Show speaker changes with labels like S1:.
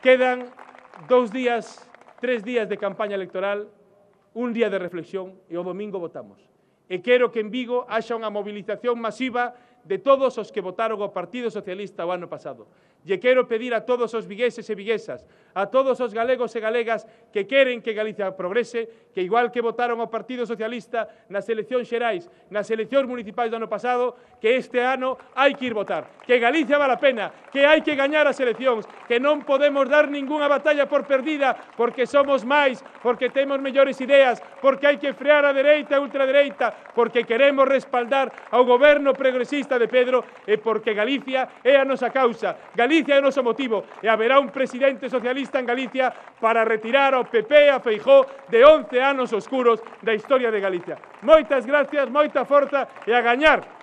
S1: Quedan 2 días, 3 días de campaña electoral, un día de reflexión e o domingo votamos. E quero que en Vigo haxa unha mobilización masiva de todos os que votaron ao Partido Socialista o ano pasado. E quero pedir a todos os vigueses e viguesas, a todos os galegos e galegas que queren que Galicia progrese, que igual que votaron ao Partido Socialista nas eleccións xerais, nas eleccións municipais do ano pasado, que este ano hai que ir votar, que Galicia vale a pena, que hai que gañar as eleccións, que non podemos dar ningunha batalla por perdida, porque somos máis, porque temos mellores ideas, porque hai que frear a dereita e a ultradereita, porque queremos respaldar ao goberno progresista de Pedro e porque Galicia é a nosa causa. Galicia é o noso motivo e haberá un presidente socialista en Galicia para retirar ao PP e a Feijóo de 11 anos oscuros da historia de Galicia. Moitas gracias, moita forza e a gañar